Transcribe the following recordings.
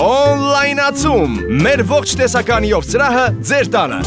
Օնլայնացում, մեր ողջ տեսականիով սրահը ձեր տանը։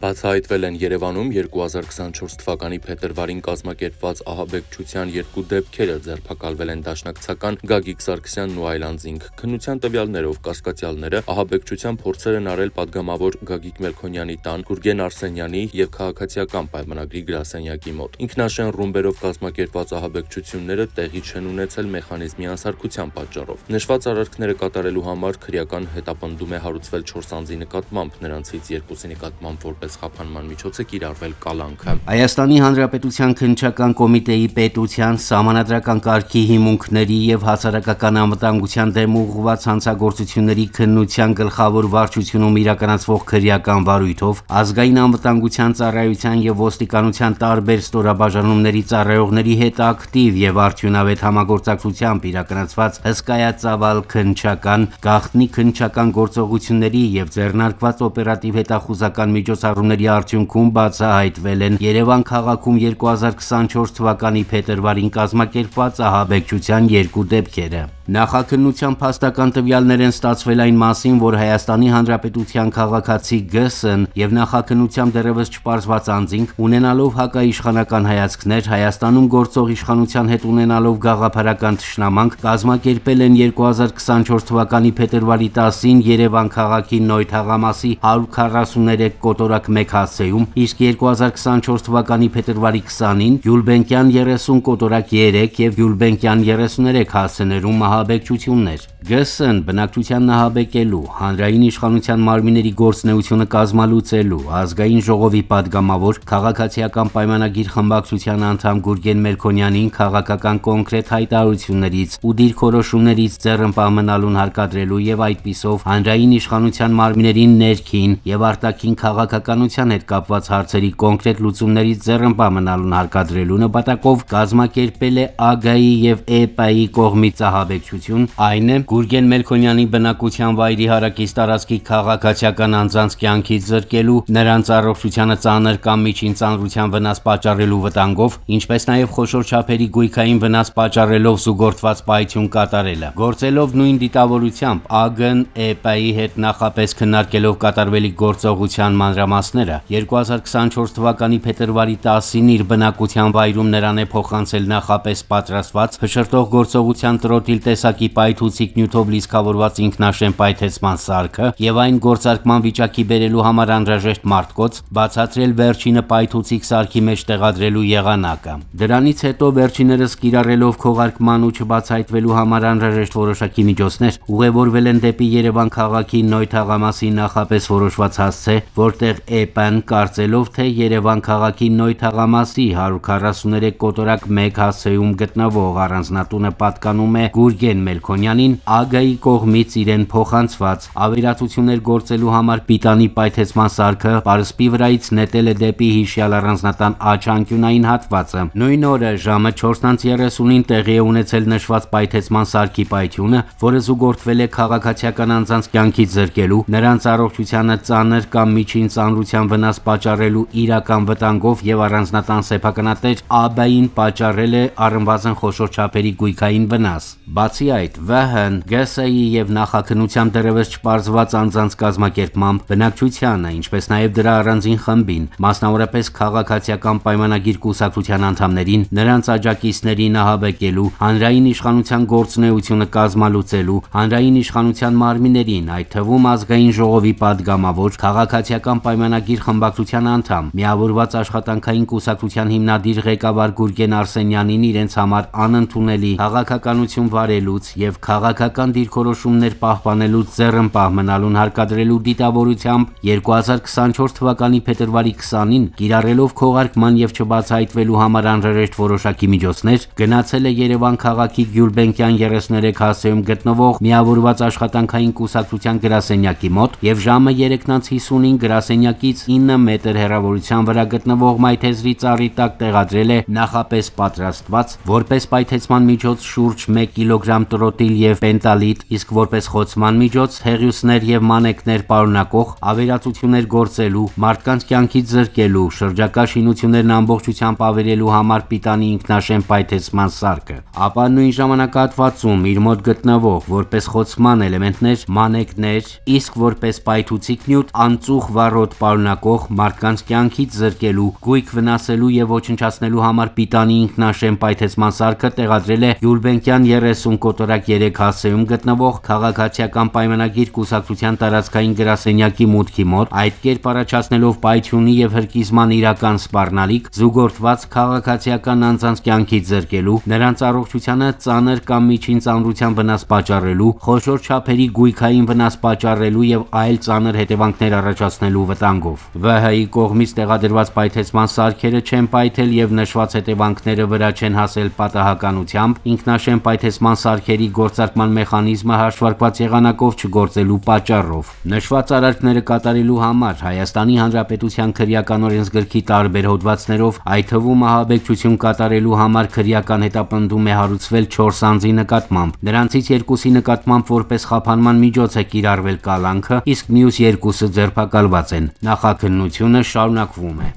Բացահայտվել են Երևանում 2024 թվականի փետրվարին կազմակերպված ահաբեկչության 2 դեպքերը, ձերբակալվել են դաշնակցական Գագիկ Սարգսյանն ու այլանձինք։ Քննության տվյալներով կասկածյալները ահաբեկչության փորձեր են արել падգամավոր Գագիկ Մելքոնյանի տան, Գուրգեն Արսենյանի եւ քաղաքացիական պայմանագրի գրասենյակի մոտ։ Ինքնաշեն ռումբերով կազմակերպված ահաբեկչությունները տեղի չեն ունեցել մեխանիզմի անսարքության պատճառով։ Նշված արարքները կատարելու համար քրեական հետապնդում է հարուցվել 4 անձի նկատմամբ, նրանցից 2-ի նկատմամբ որպես խափանման միջոց է կիրառվել կալանքը։ Հայաստանի Հանրապետության քննչական կոմիտեի պետության, սահմանադրական կարգի հիմունքների եւ հասարակական անվտանգության դեմ ուղղված հանցագործությունների քննության գլխավոր վարչությունում իրականացվող քրեական վարույթով ազգային անվտանգության ծառայության եւ ոստիկանության տարբեր ստորաբաժանումների ծառայողների հետ ակտիվ եւ արդյունավետ համագործակցությամբ իրականացված հսկայածավալ քննչական, գաղտնի քննչական գործողությունների եւ ձեռնարկված օպերատիվ հետախուզական միջոցառումների արդյունքում բացահայտվել են Երևան քաղաքում 2024 թվականի փետրվարին կազմակերպված ահաբեկչության 2 դեպքերը։ Նախաքննության փաստական տվյալներ են ստացվել այն մասին, որ Հայաստանի Հանրապետության քաղաքացի Գ.Ս.-ն եւ նախաքննությամբ դեռևս չպարզված անձինք, ունենալով հակաիշխանական հայացքներ, Հայաստանում գործող իշխանության հետ ունենալով գաղափարական թշնամանք, կազմակերպել են 2024 թվականի փետրվարի 10-ին Երևան քաղաքի Նոյ թաղամասի 143 կոտորակ 1 հասցեում, իսկ 2024 թվականի փետրվարի 20-ին Գյուլբենկյան 30 կոտորակ 3 եւ Գյուլբենկյան 33 հասցեներում ահաբեկչություններ։ Գ.Ս.-ն բնակչության նահաբեկելու, հանրային իշխանության մարմինների գործունեությունը կազմալուծելու, ազգային ժողովի падգամավոր, քաղաքացիական պայմանագիր խմբակցության անդամ Գուրգեն Մելքոնյանին քաղաքական կոնկրետ հայտարարություններից ու դիրքորոշումներից ձեռնպահ մնալուն հարկադրելու եւ այդպիսով հանրային իշխանության մարմիններին ներքին եւ արտաքին քաղաքականության հետ կապված հարցերի կոնկրետ լուծումներից ձեռնպահ մնալուն հարկադրելու նպատակով կազմակերպել է ԱԳ-ի եւ ԷՊ-ի կողմից ահաբեկչություն, այն է Գուրգեն Մելքոնյանի բնակության վայրի հարակից տարածքի քաղաքացիական անձանց կյանքից զրկելու, նրանց առողջությանը ծանր կամ միջին ծանրության վնաս պատճառելու վտանգով, ինչպես նաև խոշոր չափերի գույքային վնաս պատճառելով զուգորդված պայթյուն կատարելը։ Գործելով նույն դիտավորությամբ ԱԳ-ն ԵՊ-ի հետ նախապես քննարկելով կատարվելիք գործողության մանրամասները, 2024 թվականի փետրվարի 10-ին իր բնակության վայրում նրան է փոխանցել նախապես պատրաստված փշրտող գործողության տրոտիլ տեսակի պայթուցիկ նյութով լիցքավորված ինքնաշեն պայթեցման սարքը եւ այն գործարկման վիճակի բերելու համար անհրաժեշտ մարտկոց, բացատրել վերջինը պայթուցիկ սարքի մեջ տեղադրելու եղանակը։ Դրանից հետո վերջիներս կիրառելով քողարկման ու չբացահայտվելու համար անհրաժեշտ որոշակի միջոցներ ուղևորվել են դեպի Երևան քաղաքի Նոյ թաղամասի նախապես որոշված հասցե, որտեղ ԵՊ-ն կարծելով թե Երևան քաղաքի Նոյ թաղամասի 143 կոտորակ 1 հասցեում գտնվող առանձնատունը պատկանում է Գուրգեն Մելքոնյանին, ԱԳ-ի կողմից իրեն փոխանցված ավերածություններ գործելու համար պիտանի պայթեցման սարքը պարսպի վրայից նետել է դեպի հիշյալ առանձնատան աջ անկյունային հատվածը։ Նույն օրը ժամը 4:30-ին տեղի է ունեցել նշված պայթեցման սարքի պայթյունը, որը զուգորդվել է քաղաքացիական անձանց կյանքից զրկելու, նրանց առողջությանը ծանր կամ միջին ծանրության վնաս պատճառելու իրական վտանգով եւ առանձնատան սեփականատեր ԱԲ-ին պատճառել է առնվազն խոշոր չափերի գույքային վնաս։ Բացի այդ, ՎՀ-ն, ԳՍ-ի եւ նախաքննությամբ դեռևս չպարզված անձանց կազմակերպմամբ բնակչությանը, ինչպես նաեւ դրա առանձին խմբին, մասնավորապես քաղաքացիական պայմանագիր կուսակցության անդամներին, նրանց աջակիցներին ահաբեկելու, հանրային իշխանության գործունեությունը կազմալուծելու, հանրային իշխանության մարմիններին, այդ թվում ազգային ժողովի падգամավոր, քաղաքացիական պայմանագիր խմբակցության անդամ, միավորված աշխատանքային կուսակցության հիմնադիր ղեկավար Գուրգեն Արսենյանին իրենց համար անընդունելի քաղաքականություն վարելուց եւ քաղաքական դիրքորոշումներ պահպանելուց ձեռնպահ մնալուն հարկադրելու դիտավորությամբ 2024 թվականի փետրվարի 20-ին կիրառելով քողարկման եւ չբացահայտվելու համար անհրաժեշտ որոշակի միջոցներ գնացել է Երևան քաղաքի Գյուլբենկյան 33 հասցեում գտնվող միավորված աշխատանքային կուսակցության գրասենյակի մոտ եւ ժամը 3:50-ին գրասենյակի կյանքից 9 մետր հեռավորության վրա գտնվող մայթեզրի ծառի տակ տեղադրել է նախապես պատրաստված, որպես պայթեցման միջոց շուրջ 1 կիլոգրամ տրոտիլ եւ պենտալիտ, իսկ որպես խոցման միջոց հեղիուսներ եւ մանեկներ պարունակող ավերածություններ գործելու, մարդկանց կյանքից զրկելու, շրջակա շինություններն ամբողջությամբ ավերելու համար պիտանի ինքնաշեն պայթեցման սարքը, ապա նույն ժամանակահատվածում իր մոտ գտնվող որպես խոցման էլեմենտներ մանեկներ, իսկ որպես պայթուցիկ նյութ անծուխ վառոդ պարունակող մարդկանց կյանքից զրկելու, գույք վնասելու եւ ոչնչացնելու համար պիտանի ինքնաշեն պայթեցման սարքը տեղադրել է Գյուլբենկյան 30 կոտորակ 3 հասցեում գտնվող քաղաքացիական պայմանագիր կուսակցության տարածքային գրասենյակի մուտքի մոտ, այդ կերպ առաջացնելով պայթյունի եւ հրկիզման իրական սպառնալիք, զուգորդված քաղաքացիական անձանց կյանքից զրկելու, նրանց առողջությանը ծանր կամ միջին ծանրության վնաս պատճառելու, խոշոր չափերի գույքային վնաս պատճառելու եւ այլ ծանր հետևանքներ առաջացնելու վտանգով։ ՎՀ-ի կողմից տեղադրված պայթեցման սարքերը չեն պայթել եւ նշված հետևանքները վրա չեն հասել պատահականությամբ, ինքնաշեն պայթեցման սարքերի գործարկման մեխանիզմը հաշվարկված եղանակով չգործելու պատճառով։ Նշված արարքները կատարելու համար Հայաստանի Հանրապետության քրեական օրենսգրքի տարբեր հոդվածներով, այդ թվում ահաբեկչություն կատարելու համար քրեական հետապնդում է հարուցվել 4 անձի նկատմամբ։ Նրանցից 2-ի նկատմամբ որպես խափանման միջոց է կիրառվել կալանքը, իսկ մյուս 2-ը ձերբակալված են։ Նախաքննությունը շարունակվում է։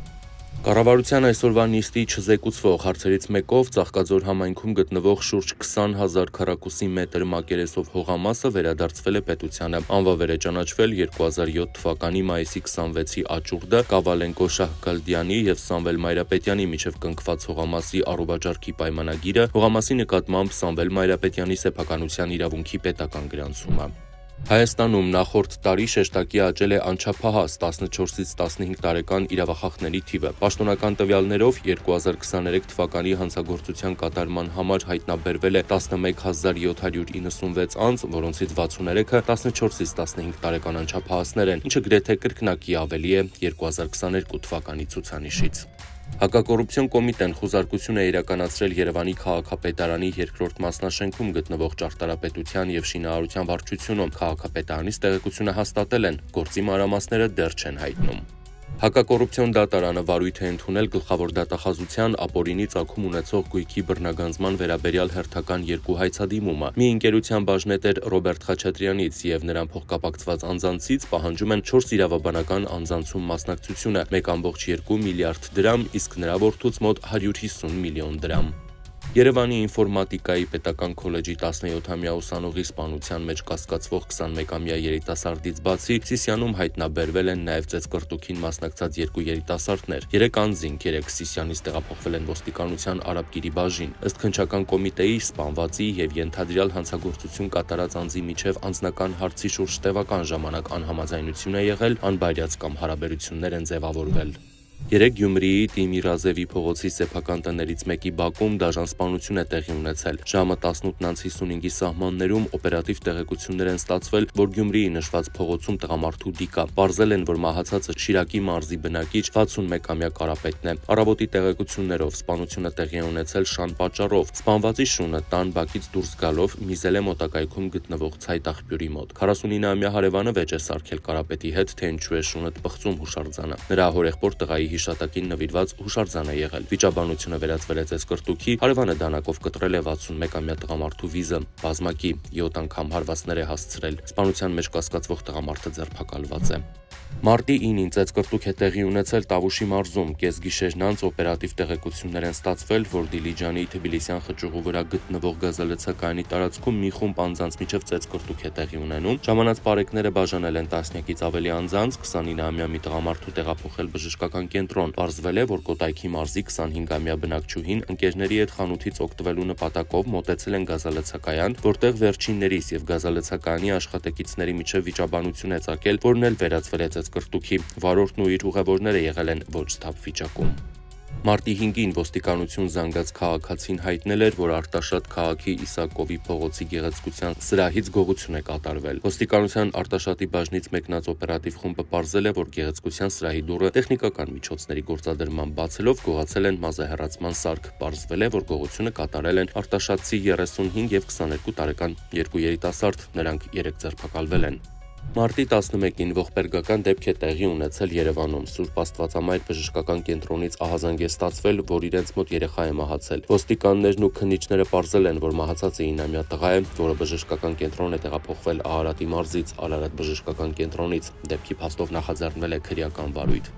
Կառավարության այսօրվա նիստի չզեկուցվող հարցերից մեկով Ծաղկաձոր համայնքում գտնվող շուրջ 20,000 քառակուսի մետր մակերեսով հողամասը վերադարձվել է պետությանը։ Անվավեր է ճանաչվել 2007 թվականի մայիսի 26-ի աճուրդը Կավալենկո Շահգալդյանի եւ Սամվել Մայրապետյանի միջև կնքված հողամասի առողջարքի պայմանագիրը, հողամասի նկատմամբ Սամվել Մայրապետյանի սեփականության իրավունքի պետական գրանցումը։ Հայաստանում նախորդ տարի շեշտակի աճել է անչափահաս 14-ից 15 տարեկան իրավախախների թիվը։ Պաշտոնական տվյալներով 2023 թվականի հանցագործության կատարման համար հայտնաբերվել է 11,796 անձ, որոնցից 63-ը 14-ից 15 տարեկան անչափահասներ են, ինչը գրեթե կրկնակի ավելի է 2022 թվականի ցուցանիշից։ Հակակոռուպցիոն կոմիտեն խուզարկություն է իրականացրել Երևանի քաղաքապետարանի երկրորդ մասնաշենքում գտնվող ճարտարապետության եւ շինարարության վարչությունում։ Քաղաքապետարանից տեղեկությունը հաստատել են, գործի մանրամասները դեռ չեն հայտնում։ Հակակոռուպցիոն դատարանը վարույթ է ընդունել գլխավոր դատախազության ապօրինի ծագում ունեցող գույքի բռնագանձման վերաբերյալ հերթական 2 հայցադիմումը։ Մի ընկերության բաժնետեր Ռոբերտ Խաչատրյանից եւ նրան փոխկապակցված անձանցից պահանջում են 4 իրավաբանական անձանցում մասնակցությունը 1,2 միլիարդ դրամ, իսկ նրա որդուց մոտ 150 միլիոն դրամ։ Երևանի ինֆորմատիկայի պետական քոլեջի 17-ամյա ուսանողի սպանության մեջ կասկածվող 21-ամյա երիտասարդից բացի Սիսիանում հայտնաբերվել են նաև ծեծկռտուքին մասնակցած 2 երիտասարդներ։ 3 անձինք 3 Սիսիանից տեղափոխվել են ոստիկանության Արաբկիրի բաժին։ Ըստ քննչական կոմիտեի սպանվածի եւ ենթադրյալ հանցագործություն կատարած անձի միջև անձնական հարցի շուրջ տևական ժամանակ անհամաձայնություն է եղել, անբայրած կամ հարաբերություններ են ձևավորվել։ 3 Գյումրիի Տիմիրազևի փողոցի սեփական տներից մեկի բակում դաժան սպանություն է տեղի ունեցել։ Ժամը 18:55-ի սահմաններում օպերատիվ տեղեկություններ են ստացվել, որ Գյումրիի նշված փողոցում տղամարդու դիկա։ Պարզել են, որ մահացածը Շիրակի մարզի բնակիչ 61-ամյա Կարապետն է։ Առավոտի տեղեկություններով սպանությունը տեղի է ունեցել շան պատճառով։ Սպանվածի շունը տան բակից դուրս գալով միզել է մոտակայքում գտնվող ցայտ աղբյուրի մոտ։ 49-ամյա հարևանը վեճ է սարքել Կարապետի հետ, թե ինչու է շունը տպղծում հուշարձանը։ Նրա հորեղբոր տղայի հիշատակին նվիրված հուշարձան է եղել։ Վիճաբանությունը վերածվել է ծեծկռտուքի, հարևանը դանակով կտրել է 61-ամյա տղամարդու վիզը, բազմակի 7 անգամ հարվածներ է հասցրել։ Սպանության մեջ կասկածվող տղամարդը ձերբակալված է։ Մարտի 9-ին ծեծկռտուք է տեղի ունեցել Տավուշի մարզում։ Կեսգիշերն անց օպերատիվ տեղեկություններ են ստացվել, որ Դիլիջանի Թբիլիսյան խճուղու վրա գտնվող գազալցակայանի տարածքում մի խումբ անձանց միջև ծեծկռտուք է տեղի ունենում։ Ժամանած բարեկները բաժանել են 10-ից ավելի անձանց, 29-ամյա մի տղամարդու տեղափոխել բժշկական կենտրոն։ Պարզվել է, որ Կոտայքի մարզի 25-ամյա բնակչուհին ընկերների հետ խանութից օգտվելու նպատակով մոտեցել են գազալցակայան, որտեղ վերջիններիս եւ գազալցակայանի աշխատակիցների միջև վիճաբանություն է ծագել, որն էլ վերածվել է ծեծկռտուքի։ Վարորդն ու իր ուղևորները եղել են ոչ սթափ վիճակում։ Մարտի 5-ին ոստիկանություն զանգած քաղաքացին հայտնել էր, որ Արտաշատ քաղաքի Իսակովի փողոցի գեղեցկության սրահից գողություն է կատարվել։ Ոստիկանության Արտաշատի բաժնից մեկնած օպերատիվ խումբը պարզել է, որ գեղեցկության սրահի դուռը տեխնիկական միջոցների գործադրման բացելով գողացել են մազահեռացման սարք։ Պարզվել է, որ գողությունը կատարել են արտաշատցի 35 եւ 22 տարեկան երկու երիտասարդ, նրանք 3 ձերբակալվել են։ Մարտի 11-ին ողբերգական դեպք է տեղի ունեցել Երևանում։ Սուրբ Աստվածամայր բժշկական կենտրոնից ահազանգ է ստացվել, որ իրենց մոտ երեխա է մահացել։ Ոստիկաններն ու քննիչները պարզել են, որ մահացած 9-ամյա տղա է, որը բժշկական կենտրոն է տեղափոխվել Արարատի մարզից Արարատ բժշկական կենտրոնից։ Դեպքի փաստով նախաձեռնել է քրեական վարույթ։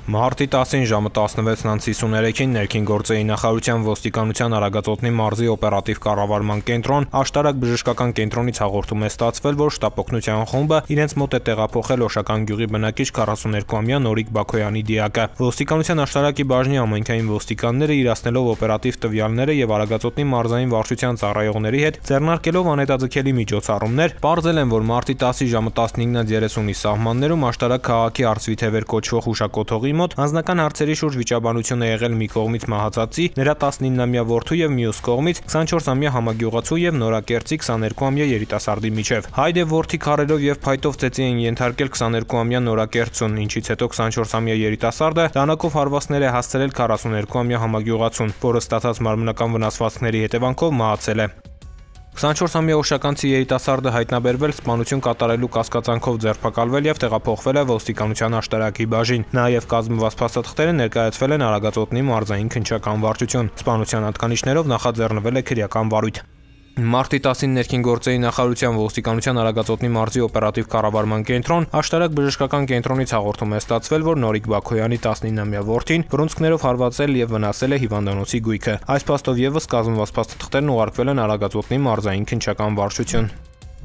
Մարտի 10-ին ժամը 16:53-ին ներքին գործերի նախարարության ոստիկանության Արագածոտնի մարզի օպերատիվ կառավարման կենտրոն աշտարակ բժշկական կենտրոնից հաղորդում է ստացվել, որ շտապօգնության խումբը իրենց մոտ է տեղափոխել Օշական գյուղի բնակիչ 42-ամյա Նորիկ Բաքոյանի դիակը։ Ոստիկանության աշտարակի բաժնի ամենքային ոստիկանները իրացնելով օպերատիվ տվյալները եւ Արագածոտնի մարզային վարչության ծառայողների հետ ձեռնարկելով անհետաձգելի միջոցառումներ, պարզել են, որ մարտի 10-ի ժամը 15:30-ի սահմաններում աշտարակ քաղաքի Արծվիթևեր կոչվող հուշակոթողի մոտ անձնական հարցերի շուրջ վիճաբանություն է եղել մի կողմից մահացածի, նրա 19-ամյա որդու եւ մյուս կողմից 24-ամյա համագյուղացու եւ նորակերտցի 22-ամյա երիտասարդի միջև։ Հայր եւ որդի քարերով եւ փայտով ծեծի են ենթարկել 22-ամյա նորակերտցուն, ինչից հետո 24-ամյա երիտասարդը դանակով հարվածներ է հասցրել 42-ամյա համագյուղացուն, որը ստացած մարմնական վնասվածքների հետևանքով մահացել է։ 24-ամյա օշականցի երիտասարդը հայտնաբերվել սպանություն կատարելու կասկածանքով ձերբակալվել եւ տեղափոխվել է ոստիկանության աշտարակի բաժին։ Նաեւ կազմված փաստաթղթերը ներկայացվել են Արագածոտնի մարզային քննչական վարչություն։ Սպանության հատկանիշներով նախաձեռնվել է քրեական վարույթ։ Մարտի 10-ին ներքին գործերի նախարարության ոստիկանության Արագածոտնի մարզի օպերատիվ կառավարման կենտրոն աշտարակ բժշկական կենտրոնից հաղորդում է ստացվել, որ Նորիկ Բաքոյանի 19-ամյա որդին բռունցքներով հարվածել եւ վնասել է հիվանդանոցի գույքը։ Այս փաստով եւս կազմված փաստաթղթերն ուղարկվել են Արագածոտնի մարզային քննչական վարչություն։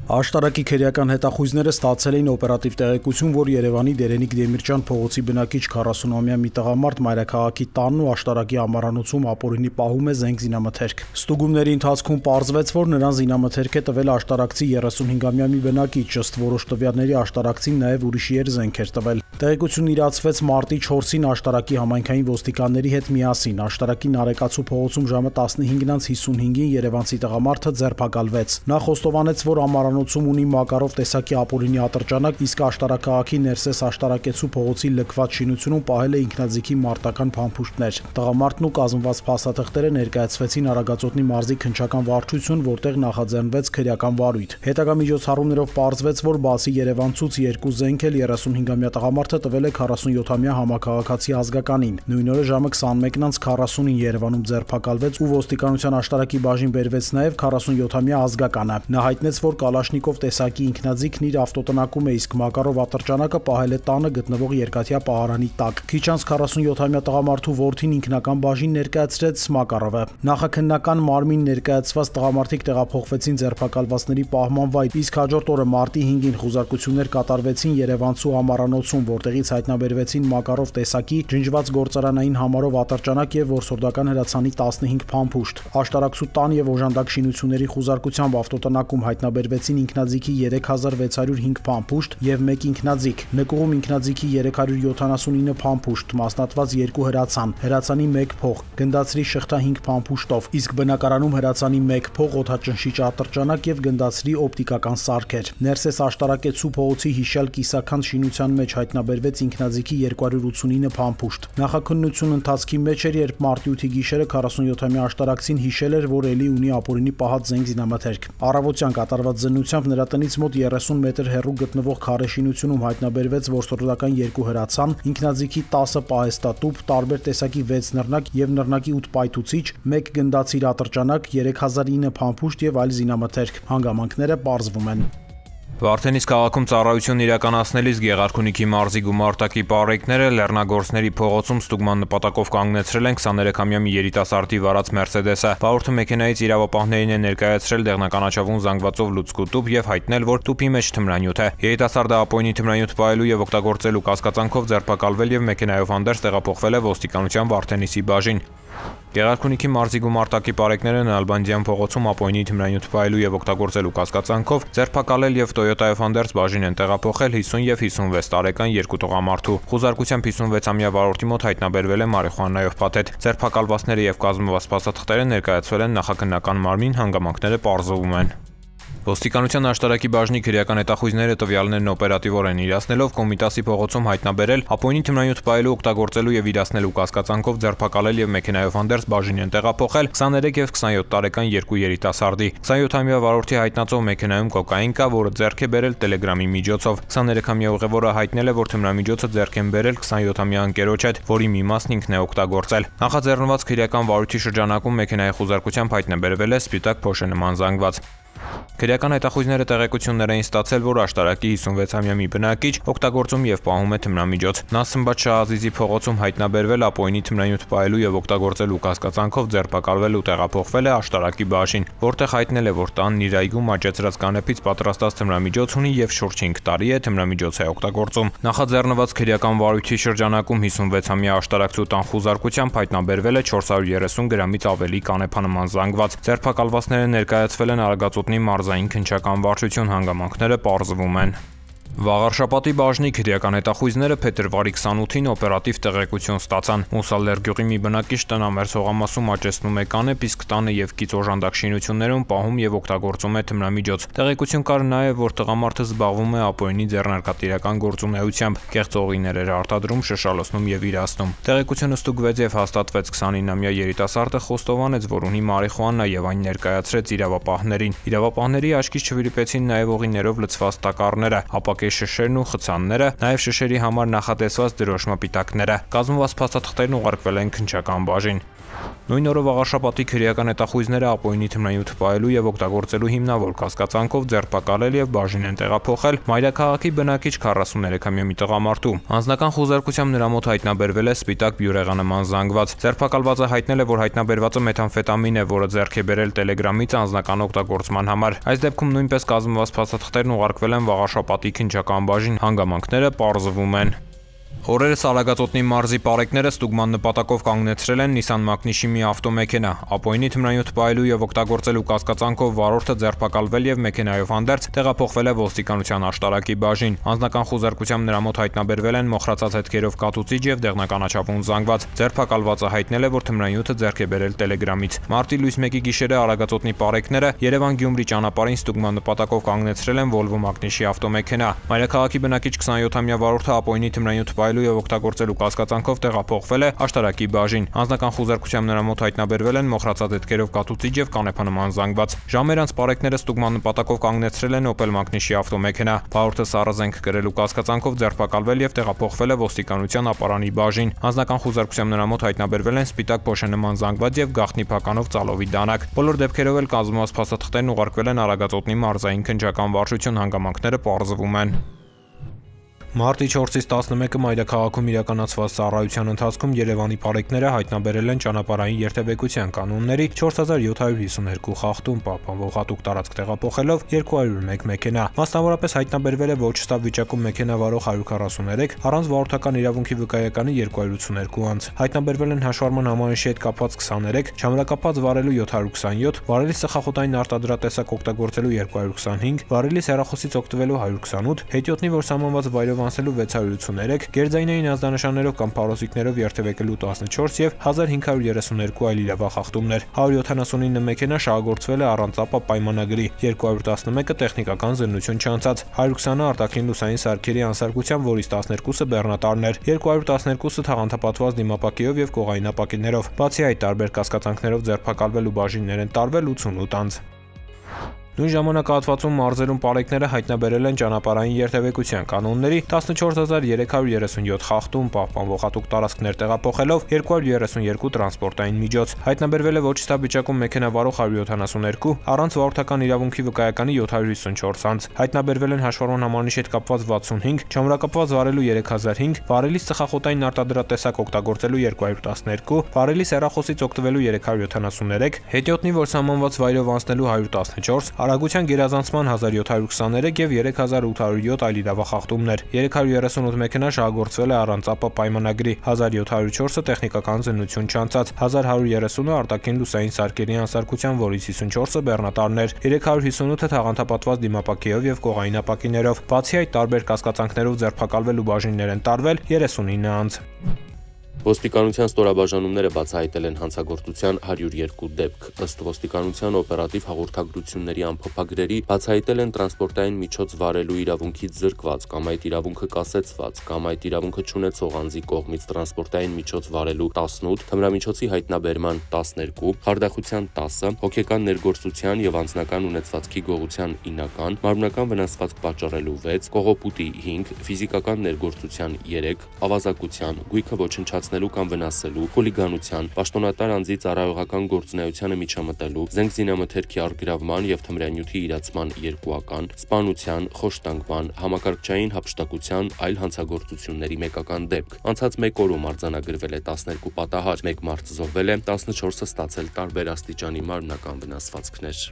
Աշտարակի քրեական հետախույզները ստացել էին օպերատիվ տեղեկություն, որ Երևանի Դերենիկ Դեմիրճյան փողոցի բնակիչ 40-ամյա մի տղամարդ մայրաքաղաքի տանն ու աշտարակի ամառանոցում ապօրինի պահում է զենք զինամթերք։ Ստուգումների ընթացքում պարզվեց, որ նրան զինամթերք է տվել աշտարակցի 35-ամյա մի բնակիչ, ըստ որոշ տվյալների աշտարակցին նաև ուրիշի էր զենք էր տվել։ Տեղեկությունն իրացվեց մարտի 4-ին աշտարակի համայնքային ոստիկանների հետ միասին։ Աշտարակի Նարեկացու փողոցում ժամը 15:55-ին երևանցի տղամարդը ձերբակալվեց։ Նա խոստովանեց, որ ամառանոցում ունի Մակարով տեսակի ապօրինի ատրճանակ, իսկ աշտարակ քաղաքի Ներսես աշտարակեցու փողոցի լքված շինությունում պահել է ինքնաձիգի մարտական փամփուշտներ։ Տղամարդն ու կազմված փաստաթղթերը ներկայացվեցին Արագածոտնի մարզի քննչական վարչություն, որտեղ նախաձեռնվեց քրեական վարույթ։ Հետագա միջոցառումներով պարզվեց, որ բացի երևանցուց երկու զենք էլ 35-ամյա տղամարդը տվել է 47-ամյա համակարգացի ազգականին։ Նույն օրը ժամը 21:40-ին Երևանում ձերբակալվեց ու ոստիկանության աշտարակի բաժին բերվեց նաև 47-ամյա ազգականը։ Նա հայտնեց, որ Կալաշնիկով տեսակի ինքնաձիգն իր ավտոտնակում է, իսկ Մակարով ատրճանակը պահել է տանը գտնվող երկաթյա պահարանի տակ։ Քիչ անց 47-ամյա տղամարդու որդին ինքնական բաժին ներկայացրեց Մակարովը։ Նախաքննական մարմին ներկայացված տղամարդիկ տեղափոխվեցին ձերբակալվածների պահման վայր, իսկ հաջորդ օրը մարտի 5-ին խուզարկություններ կատարվեցին Երևանցու ամառանոցում, որտեղից հայտնաբերվեցին Մակարով տեսակի ջնջված գործարանային համարով ատրճանակ եւ որսորդական հրացանի 15 փամփուշտ։ Աշտարակցու տան եւ օժանդակ շինությունների խուզարկությամբ ավտոտնակում հայտնաբերվեցին ինքնաձիգի 3605 փամփուշտ եւ 1 ինքնաձիգ, նկուղում ինքնաձիգի 379 փամփուշտ, մասնատված 2 հրացան, հրացանի 1 փող, գնդացրի շղթա 5 փամփուշտով, իսկ բնակարանում հրացանի 1 փող, օդաճնշիչ ատրճանակ եւ գնդացրի օպտիկական սարքեր։ Ներսես աշտարակեցու փողոցի հիշյալ կիսաքանդ շինության մեջ հայտնաբերվեց ինքնաձիգի 289 փամփուշտ։ Նախաքննության ընթացքի մեջ էր, երբ մարտի 8-ի գիշերը 47-ամյա աշտարակցին հիշել էր, որ էլի ունի ապօրինի պահած զենք զինամթերք։ Առավոտյան կատարված զննությամբ նրա տնից մոտ 30 մետր հեռու գտնվող քարե շինությունում հայտնաբերվեց որսորդական 2 հրացան, ինքնաձիգի 10 պահեստատուփ, տարբեր տեսակի 6 նռնակ եւ նռնակի 8 պայթուցիչ, 1 գնդացիր ատրճանակ, 3009 փամփուշտ եւ այլ զինամթերք։ Հանգամանքները պարզվում են։ Վարդենիս քաղաքում ծառայություն իրականացնելիս Գեղարքունիքի մարզի գումարտակի պարեկները Լեռնագործների փողոցում ստուգման նպատակով կանգնեցրել են 23-ամյա մի երիտասարդի վարած Մերսեդեսը։ Վարորդը մեքենայից իրավապահներին է ներկայացրել դեղնականաչավուն զանգվածով լուցկու տուփ եւ հայտնել, որ տուփի մեջ թմրանյութ է։ Երիտասարդը ապօրինի թմրանյութ պահելու եւ օգտագործելու կասկածանքով ձերբակալվել եւ մեքենայով հանդերձ տեղափոխվել է ոստիկանության Վարդենիսի բաժին։ Գեղարքունիքի մարզի գումարտակի պարեկները Նալբանդյան փողոցում ապօրինի թմրանյութ պահելու եւ օգտագործելու կասկածանքով ձերբակալել եւ Toyota-ով հանդերձ բաժին են տեղափոխել 50 եւ 56 տարեկան երկու տղամարդու։ Խուզարկությամբ 56-ամյա վարորդի մոտ հայտնաբերվել է մարիխուանայով փաթեթ։ Ձերբակալվածները եւ կազմված փաստաթղթերը ներկայացվել են նախաքննական մարմին, հանգամանքները պարզվում են։ Ոստիկանության աշտարակի բաժնի քրեական հետախույզները տվյալներն օպերատիվորեն իրացնելով Կոմիտասի փողոցում հայտնաբերել ապօրինի թմրանյութ պահելու, օգտագործելու եւ իրացնելու կասկածանքով ձերբակալել եւ մեքենայով հանդերձ բաժին են տեղափոխել 23 եւ 27 տարեկան երկու երիտասարդի։ 27-ամյա վարորդի հայտնածով մեքենայում կոկաին կա, որը ձեռք է բերել Telegram-ի միջոցով։ 23-ամյա ուղևորը հայտնել է, որ թմրամիջոցը ձեռք են բերել 27-ամյա ընկերոջ հետ, որի մի մասն ինքն է օգտագործել։ Նախաձեռնված քրեական վարույթի շրջանակում մեքենայի խուզարկությամբ հայտնաբերվել է սպիտակ փոշի նման զանգված։ Քրեական հետախույզները տեղեկություններ էին ստացել, որ աշտարակի 56-ամյա մի բնակիչ օգտագործում եւ պահում է թմրամիջոց։ Նա Սմբատ Շահազիզի փողոցում հայտնաբերվել ապօրինի թմրանյութ պահելու եւ օգտագործելու կասկածանքով ձերբակալվել ու տեղափոխվել է աշտարակի բաժին, որտեղ հայտնել է, որ տանն իր այգում աճեցրած կանեփից պատրաստած թմրամիջոց ունի եւ շուրջ 5 տարի է թմրամիջոց է օգտագործում։ Նախաձեռնված քրեական վարույթի շրջանակում 56-ամյա աշտարակցու տան խուզարկությամբ հայտնաբերվել է 430 գրամից ավելի կանեփանման զանգված։ Ձերբակալվածները ներկայացվել են Արագածոտնի մարզային քննչական վարչություն, հանգամանքները պարզվում են։ Վաղարշապատի բաժնի քրեական հետախույզները փետրվարի 28-ին օպերատիվ տեղեկություն ստացան։ Մուսալեր գյուղի մի բնակիչ տնամերձ հողամասում աճեցնում է կանեպ, իսկ տանը եւ կից օժանդակ շինություններում պահում եւ օգտագործում է թմրամիջոց։ Տեղեկություն կար նաեւ, որ տղամարդը զբաղվում է ապօրինի ձեռնարկատիրական գործունեությամբ, կեղծ օղիներ էր արտադրում, շշալոցնում եւ իրացնում։ Տեղեկությունը ստուգվեց եւ հաստատվեց 29-ամյա երիտասարդը խոստովանեց, որ ունի մարիխուանա եւ այն ներկայացրեց իրավապահներին։ Իրավապահների աչքից չվրիպեցին նաեւ օղիներով լցված տակառները, ապա շշերն ու խցանները, նաև շշերի համար նախատեսված դրոշմապիտակները։ Կազմված փաստաթղթերն ուղարկվել են քննչական բաժին։ Նույն օրը Վաղարշապատի քրեական հետախույզները ապօրինի թմրանյութ պահելու եւ օգտագործելու հիմնավոր կասկածանքով ձերբակալել եւ բաժին են տեղափոխել Մայրաքաղաքի բնակիչ 43-ամյա մի տղամարդու։ Անձնական խուզարկությամբ նրա մոտ հայտնաբերվել է սպիտակ բյուրեղանման զանգված։ Ձերբակալվածը հայտնել է, որ հայտնաբերվածը մեթամֆետամին է, որը ձեռք է բերել Telegram-ից անձնական օգտագործման համար։ Այս դեպքում նույնպես կազմված փաստաթղթերն ուղարկվել են Վաղարշապատի քննչական բաժին, հանգամանքները պարզվում են։ Օրերս Արագածոտնի մարզի պարեկները ստուգման նպատակով կանգնեցրել են Nissan Magnishի մի ավտոմեքենա։ Ապօրինի թմրանյութ պահելու եւ օգտագործելու կասկածանքով վարորդը ձերբակալվել եւ մեքենայով հանդերձ տեղափոխվել է ոստիկանության աշտարակի բաժին։ Անձնական խուզարկությամբ նրա մոտ հայտնաբերվել են մոխրացած հետքերով կատուցիչ եւ դեղնականաչափուն զանգված։ Ձերբակալվածը հայտնել է, որ թմրանյութը ձեռք է բերել Telegram-ից։ Մարտի լույս 1-ի գիշերը Արագածոտնի պարեկները Երևան-Գյումրի ճանապարհին ստուգման նպատակով կանգնեցրել են Volvo Magnishի ավտոմեքենա։ Մայրաքաղաքի բնակիչ 27-ամյա վարորդը ապօրինի թմրանյութ եւ օգտագործելու կասկածանքով տեղափոխվել է աշտարակի բաժին։ Անձնական խուզարկությամբ նրա մոտ հայտնաբերվել են մոխրացած հետքերով կատուցիչ եւ կանեփանման զանգված։ Ժամեր անց պարեկները ստուգման նպատակով կանգնեցրել են Opel Magnishի ավտոմեքենա։ Վարորդը սառնազենք կրելու կասկածանքով ձերբակալվել եւ տեղափոխվել է ոստիկանության ապարանի բաժին։ Անձնական խուզարկությամբ նրա մոտ հայտնաբերվել են սպիտակ փոշենման զանգված եւ գաղտնի փականով ծալովի դանակ։ Բոլոր դեպքերով էլ կազմված փաստաթղթերն ուղարկվել են Արագածոտնի մարզային քննչական վարչություն, հանգամանքները պարզվում են։ Մարտի 4-ից 11-ը Մայրաքաղաքում իրականացված ծառայության ընթացքում Երևանի պարեկները հայտնաբերել են ճանապարհային երթևեկության կանոնների 4752 խախտում, պահպանվող հատուկ տարածք տեղափոխելով 201 մեքենա։ Մասնավորապես հայտնաբերվել է ոչ ստապ վիճակում մեքենա վարող 143, առանց վարորդական իրավունքի վկայականի 282 անձ։ Հայտնաբերվել են հաշվառման համանիշի հետ կապված 23, չամրակապած վարելու 727, վարելի սխախոտային արտադրատեսակ օգտագործելու 225, վարելի հեռախոսից օգտվելու 128, հետիոտնի որ սահմանված վայրով անցնելու 683, գերձայնային ազդանշաններով կամ փարոսիկներով երթևեկելու 14 եւ 1532 այլ իրավախախտումներ։ 179 մեքենա շահագործվել է առանց ապա պայմանագրի, 211-ը տեխնիկական զննություն չանցած, 120-ը արտաքին լուսային սարքերի անսարքությամբ, որից 12-ը բեռնատարներ, 212-ը թաղանթապատված դիմապակիով եւ կողայնապակիներով։ Բացի այդ, տարբեր կասկածանքներով ձերբակալվել ու բաժիններ են տարվել 88 անձ։ Նույն ժամանակահատվածում մարզերում պարեկները հայտնաբերել են ճանապարհային երթևեկության կանոնների 14337 խախտում, պահպանվող հատուկ տարածքներ տեղափոխելով 232 տրանսպորտային միջոց։ Հայտնաբերվել է ոչ ստապ վիճակում մեքենա վարող 172, առանց վարորդական իրավունքի վկայականի 754 անձ։ Հայտնաբերվել են հաշվառման համանիշի հետ կապված 65, չամրակապված վարելու 3005, վարելի սխախոտային արտադրատեսակ օգտագործելու 212, վարելի հեռախոսից օգտվելու 373, հետիոտնի որ սահմանված վայրով անցնելու 114, արագության գերազանցման 1723 եւ 3807 այլ իրավախախտումներ։ 338 մեքենա շահագործվել է առանց ապա պայմանագրի, 1704-ը տեխնիկական զննություն չանցած, 1130-ը արտաքին լուսային սարքերի անսարքության, որից 54-ը բեռնատարներ, 358-ը թաղանթապատված դիմապակիով եւ կողայնապակիներով։ Բացի այդ, տարբեր կասկածանքներով ձերբակալվել ու բաժիններ են տարվել 39 անձ։ Ոստիկանության ստորաբաժանումները բացահայտել են հանցագործության 102 դեպք։ Ըստ ոստիկանության օպերատիվ հաղորդագրությունների ամփոփագրերի բացահայտել են տրանսպորտային միջոց վարելու իրավունքից զրկված կամ այդ իրավունքը կասեցված կամ այդ իրավունքը չունեցող անձի կողմից տրանսպորտային միջոց վարելու 18, թմրամիջոցի հայտնաբերման 12, խարդախության 10, հոգեկան ներգործության եւ անձնական ունեցվածքի գողության 9, մարմնական վնասվածք պատճառելու 6, կողոպուտի 5, ֆիզիկական ներգործության 3, ավազակության, գույքը ոչնչացնելու կամ վնասելու, խուլիգանության, պաշտոնատար անձի ծառայողական գործունեությանը միջամտելու, զենքզինամթերքի առգրավման եւ թմրանյութի իրացման 2-ական, սպանության, խոշտանգման, համակարգչային հափշտակության այլ հանցագործությունների 1-ական դեպք։ Անցած 1 օրում արձանագրվել է 12 պատահար, 1 մարդ զոհվել է, 14-ը ստացել տարբեր աստիճանի մարմնական վնասվածքներ։